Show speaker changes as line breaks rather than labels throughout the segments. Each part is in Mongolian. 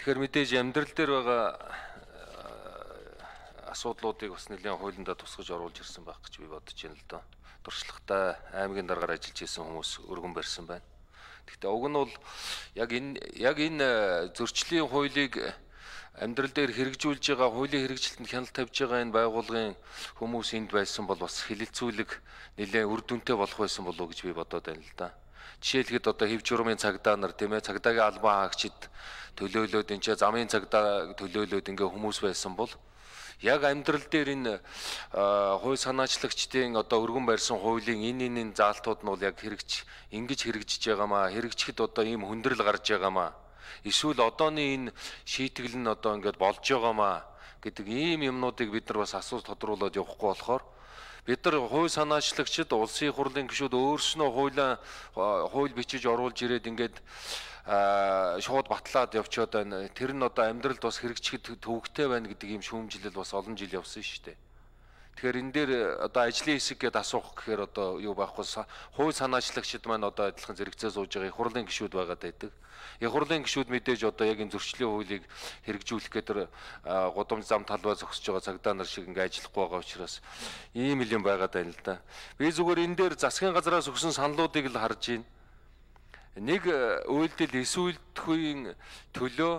Тэгэхээр мэдээж амьдрал дээр байгаа асуудлуудыг бас нэлээд хуулиндаа тусгаж оруулж ирсэн байх гэж би бодож байна л доо. Туршлагатай аймгийн даргаар ажиллаж исэн хүмүүс өргөн барьсан байна. Гэхдээ уг нь бол яг энэ зөрчлийн хуулийг амьдрал дээр хэрэгжүүлж байгаа, хуулийн хэрэгжилтэнд хяналт тавьж байгаа энэ байгууллагын хүмүүс энд байсан бол бас хилэлцүүлэг нэлээд үр дүнтэй болох байсан болов уу гэж би бодоод байна л да. Жишээлхэд одоо хэв журмын цагдаа нар тийм ээ цагдаагийн албан хаагчид төлөөлөөд энэ ч замын цагдаа төлөөлөөд ингээ хүмүүс байсан бол яг амьдрал дээр энэ хууль санаачлагчдын одоо өргөн барьсан хуулийн энэ заалтууд нь бол яг ингэж хэрэгжиж байгаамаа, хэрэгжихэд одоо ийм хүндрэл гарч байгаамаа. Эсвэл одооны энэ шийтгэл нь одоо ингээд болж байгаамаа гэдэг ийм юмнуудыг бид нар бас асууж тодруулаад явахгүй болохоор бид нар хууль санаачлагчид улсын хурлын гишүүд өөрснөө хууль бичиж оруулж ирээд ингээд шууд батлаад явчаад байна. Тэр нь одоо амьдралд бас хэрэгжихэд төвөгтэй байна гэдэг ийм шүүмжлэл бас олон жил явсан шүү дээ. Тэгэхээр энэ дээр одоо ажлын хэсэг гэдээ асуух гэхээр одоо юу байхгүй хууль санаачлагчид маань одоо адилхан зэрэгцээ сууж байгаа их хурлын гишүүд байгаад байдаг. Их хурлын гишүүд мэдээж одоо яг энэ зөрчлийн хуулийг хэрэгжүүлэх гэдэг гудамж зам талбай зогсож байгаа цагдаа нар шиг ингээ ажиллахгүй байгаа учраас ийм юм байгаад байна л да. Би зүгээр энэ дээр засгийн газраас өгсөн саналуудыг л харж байна. Нэг үйлдэл эсвэлдэхийн төлөө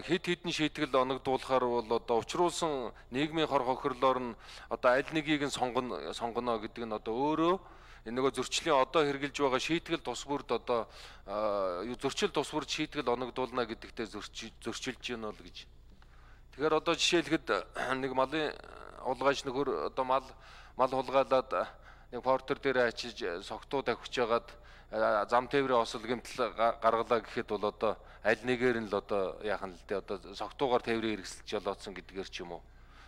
хэд хэдэн шийтгэл оногдуулахаар бол одоо учруулсан нийгмийн хор хохирлоор нь одоо аль нэгийг нь сонгоно гэдэг нь одоо өөрөө энэ нөгөө зөрчлийн одоо хэрэгжилж байгаа шийтгэл тус бүрд одоо зөрчил тус бүрд шийтгэл оногдуулна гэдэгтээ зөрчилж гэнэ бол гэж. Тэгэхээр одоо жишээлхэд нэг малын улгайч нөхөр одоо мал хулгайлаад нэг портер дээр ачиж согтуу тавьж байгаад зам тээврийн осол гэмтэл гаргалаа гэхэд бол одоо аль нэгээр нь л одоо яах нь л дээ одоо согтуугаар тээврийн хэрэгсэлж жолоодсон гэдгээр ч юм уу.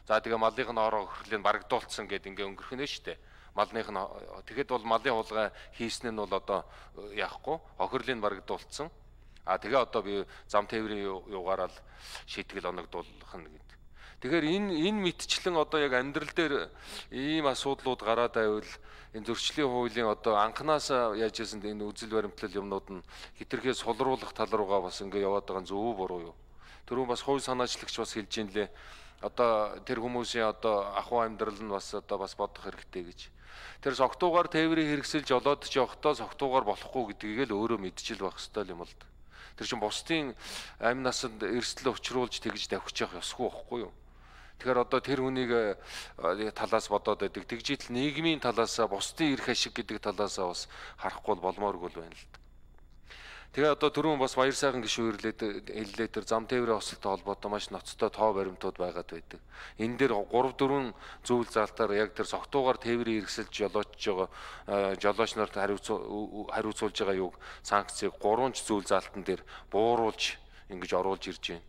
За тэгээ малынх нь ороо хөрхлийг барагдуулсан гэд ингээ өнгөрөх нь шүү дээ. Малных нь тэгэхэд бол малын хулгай хийсэн нь бол одоо яахгүй охирлыг барагдуулсан. Тэгээ одоо би зам тээврийн югаараа л шийтгэл оногдуулах нь гэдэг. Тэгэхээр энэ мэдчлэн одоо яг амьдрал дээр ийм асуудлууд гараад байвал энэ зөрчлийн хуулийн одоо анханасаа яаж ийсэн энэ үзэл баримтлал юмнууд нь хитрхээ сулруулах тал руугаа бас ингээ яваад байгаа зөв буруу юу. Түрүүн бас хууль санаачлагч бас хэлж ин лээ. Одоо тэр хүмүүсийн одоо ахуй амьдрал нь бас одоо бас бодох хэрэгтэй гэж. Тэр согтуугаар тээврийг хэрэгсэлж олоод ч явахдаа согтуугаар болохгүй гэдгийг л өөрөө мэдчил байх ёстой юм л да. Тэр чинь бусдын амь насанд эрсдэл учруулж тэгж давхиж явах ёсгүй байхгүй юу? Тэгэхээр одоо тэр хүнийг талаас бодоод байдаг. Тэгжил нийгмийн талаасаа бусдын эрх ашиг гэдэг талаасаа бас харахгүй болмооргүй байна л да. Тэгээ одоо түрүүн бас баяр сайхан гишүүн хэллээ тэр зам тээврийн осолтой холбоотой маш ноцтой тоо баримтууд байгаад байдаг. Энэ дээр 3-4 зүйл заалтаар яг тэр согтуугаар тээврийн хэрэгсэлж жолоочж байгаа жолооч нарт хариуцуулж байгаа юг санкцыг 3 зүйл заалтан дээр бууруулж ингэж оруулж ирж байна.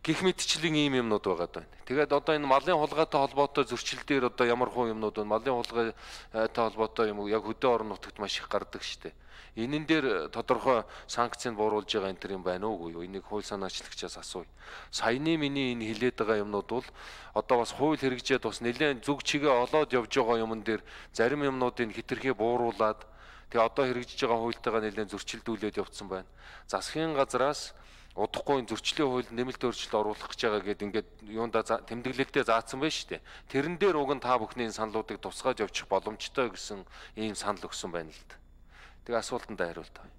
Гэх мэтчлийн ийм юмнууд байгаад байна. Тэгээд одоо энэ малын хулгайтай холбоотой зөрчил дээр одоо ямар хуу юмнууд байна? Малын хулгайтай холбоотой юм яг хөдөө орон нутагт маш их гардаг шүү дээ. Энэн дээр тодорхой санкцыг бууруулж байгаа энэ төр юм байна уугүй юу? Энийг хууль санаачлагчаас асууя. Саяны миний энэ хилээд байгаа юмнууд бол одоо бас хууль хэрэгжээд бас нэлээд зүг чигээ олоод явж байгаа юмн дээр зарим юмнуудыг хитрхээ бууруулад тэгээ одоо хэрэгжиж байгаа хуультайгаа нэлээд зөрчилдүүлээд явцсан байна. Засгийн газраас удахгүй зөрчлийн хуулинд нэмэлт өөрчлөлт оруулах гэж байгаа гэдэг ингээд юунда тэмдэглэлдээ заасан байна шүү дээ. Тэрэн дээр уг нь та бүхний саналуудыг тусгаж явчих боломжтой гэсэн ийм санал өгсөн байна л да. Тэгээ асуултанд хариулт авъя.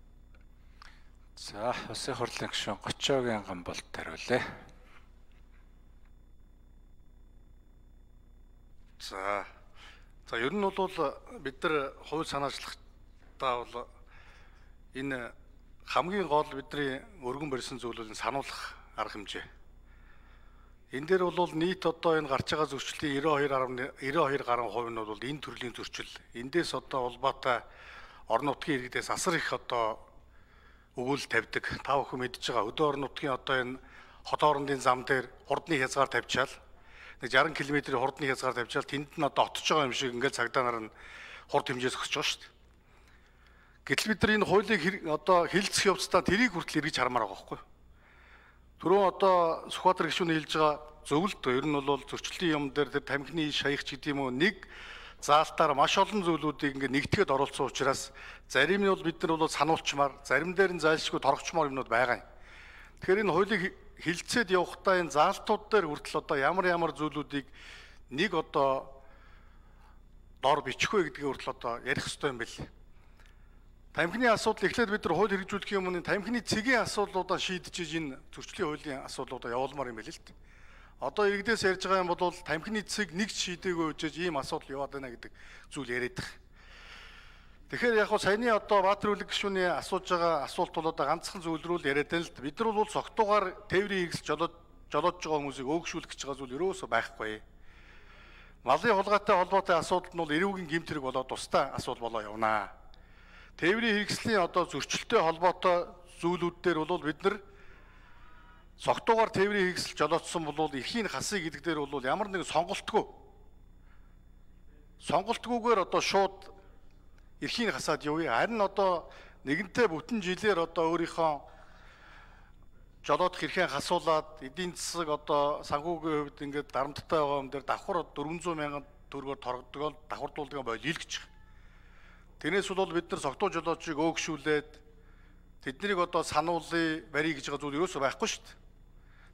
За, улсын хурлын гишүүн Гочоогийн Гамболд хариулъя.
За ер нь бол бид нар хууль санаачлагтаа бол энэ хамгийн гол бидний өргөн барьсан зүйл нь сануулгах арга хэмжээ. Энэ дээр бол нийт одоо энэ гарч байгаа зөрчлийн 92 гаруй хувь нь бол энэ төрлийн зөрчил. Эндээс одоо улбаатай орон нутгийн иргэдээс асар их одоо өгүүл тавьдаг. Та бүхэн мэдж байгаа өдөө орон нутгийн одоо энэ хот хоорондын зам дээр хурдны хязгаар тавьчаал нэг 60 км-ийн хурдны хязгаар тавьчаал тэнд нь одоо отож байгаа юм шиг ингээд цагдаа нар нь хурд хэмжээс өгч байгаа шүү дээ. Гэтэл бид нар энэ хуулийг одоо хэлцэх явцдаа тэрийг хүртэл эргэж хармаар байгаа байхгүй юу? Түрүүн одоо Сүхбаатар гишүүн хэлж байгаа зөвлөлт ер нь бол зөрчлийн юм дээр тэр тамхины шаягч гэдэг юм уу нэг заалтаар маш олон зүйлүүдийг ингээд нэгтгэхэд оролцсон учраас зарим нь бол бид нар бол сануулчмаар, зарим дээр нь зайлшгүй торгочмоор юмнууд байгаа юм. Тэгэхээр энэ хуулийг хилцээд явахдаа энэ заалтууд дээр хүртэл одоо ямар зүйлүүдийг нэг одоо дор бичих вэ гэдгийг хүртэл одоо ярих хэрэгтэй юм байна. Тамхины асуудал эхлээд бид нар хууль хэрэгжүүлэх юм нь тамхины цэгийн асуудлуудаа шийдэж энэ зөрчлийн хуулийн асуудлуудаа явуулмаар юм байна л дээ. Одоо иргэдээс ярьж байгаа юм бол тамхины цэг нэгч шийдээгүй үжиж ийм асуудал яваад байна гэдэг зүйл яриад байгаа. Тэгэхээр яг хөө саяны одоо Баатар үлэг гишүүний асууж байгаа асуулт бол одоо ганцхан зүйл рүү л яриад байна л да. Бид нар бол цогтуугаар тээврийн хэрэгсэл жолоодж байгаа хүмүүсийг өөгшүүлэх гэж байгаа зүйл ерөөсөө байхгүй. Малын хулгайтай холбоотой асуудал нь бол эрүүгийн гэмт хэрэг болоод тусдаа асуудал болоо явнаа. Тээврийн хэрэгслийн одоо зөрчилтэй холбоотой зүйлүүд дээр бол бид нар цогтуугаар тээврийн хэрэгсэл жолоодсон бол эрхийн хасыг гэдэг дээр бол ямар нэгэн сонголтгүйгээр одоо шууд эрхийн хасаад явъя. Харин одоо нэгэнтээ бүтэн жилээр одоо өөрийнхөө жолоодох эрхээ хасуулаад эдийн засаг одоо санхүүгийн хувьд ингээд дарамттай байгаа юм дээр давхар 400 мянган төгрөгөөр торгодог давхардуулдаг бойл илгэж байгаа. Тэрнээс бол бид нар цогтуу жолоодчийг өөгшүүлээд тэднийг одоо сануулъя, барья гэж байгаа зүйл ерөөсөө байхгүй шүү дээ.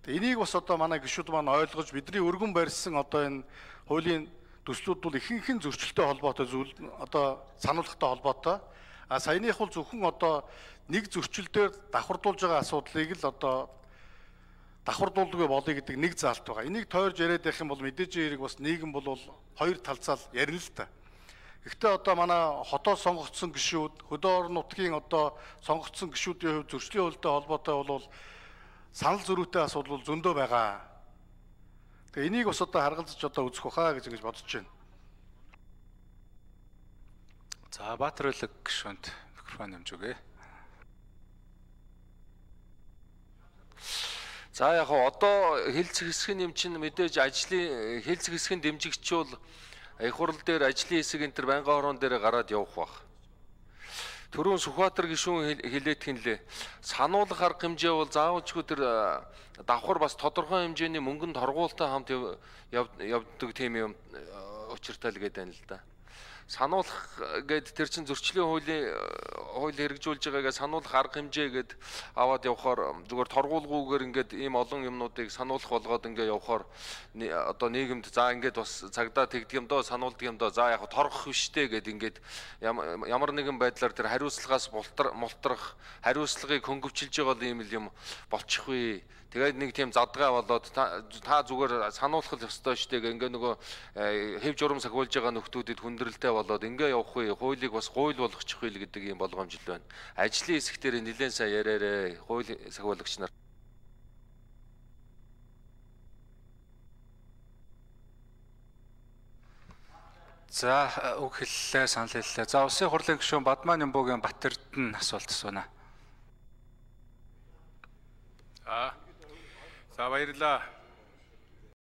Тэгээ энийг бас одоо манай гишүүд маань ойлгож бидний өргөн барьсан одоо энэ хуулийн төслүүд бол ихэнх зөрчилтэй холбоотой зүйл одоо сануулгатай холбоотой. А саяных бол зөвхөн одоо нэг зөрчил дээр давхардуулж байгаа асуудлыг л одоо давхардуулдаг болъё гэдэг нэг заалт байгаа. Энийг тойрж яриад байх юм бол мэдээж хэрэг бас нийгэм бол хоёр талцаал ярина л та. Гэхдээ одоо манай хотоос сонгогдсон гишүүд, хөдөө орон нутгийн одоо сонгогдсон гишүүдийн хувьд зөрчлийн хуультай холбоотой бол санал зөрүүтэй асуудал зөндөө байгаа. Тэгээ энийг бас одоо харгалзаж одоо үзэх баха гэж ингэж бодож байна.
За Баатар үлэг гишүүнд микрофон нэмж өгье.
За яг одоо хэлцэх хэсгийн нэм чинь мэдээж ажлын хэлцэх хэсгийн дэмжигч бол их хурал дээр ажлын хэсэг энэ төр байнгын хорон дээр гараад явах бах. Түрүүн Сүхбаатар гишүүн хэлээд хинлээ. Сануулгах арга хэмжээ бол заавалчгүй тэр давхар бас тодорхой хэмжээний мөнгөнд торгуултай хамт явдаг тийм юм учиртай л гэдэг юм л да. Сануулах гэд тэр чин зөрчлийн хууль хэрэгжүүлж байгаагаа сануулах арга хэмжээ гэд аваад явхаар зүгээр торгуулгүйгээр ингээд ийм олон юмнуудыг сануулах болгоод ингээд явхаар одоо нийгэмд за ингээд бас цагдаа тэгдэг юм доо сануулдаг юм доо за яг торгох биштэй гэд ингээд ямар нэгэн байдлаар тэр хариуцлагаас мултрах хариуцлагыг хөнгөвчилж байгаа ийм л юм болчихгүй. Тэгээд нэг тийм задгаа болоод та зүгээр сануулах ёстой штэ гэх ингээ нөгөө хэв журам сахиулж байгаа нөхдүүдэд хүндрэлтэй болоод ингээ явахгүй хуулийг бас хууль болгочихгүй л гэдэг юм болгоомжл байна. Ажлын хэсэг дээр нэлээд сайн яриараа хууль сахиулагч нар.
За үг хэллээ, санал хэллээ. За улсын хурлын гишүүн Бадман Нямбугийн Батэрд нь асуулт асууна.
За баярлалаа.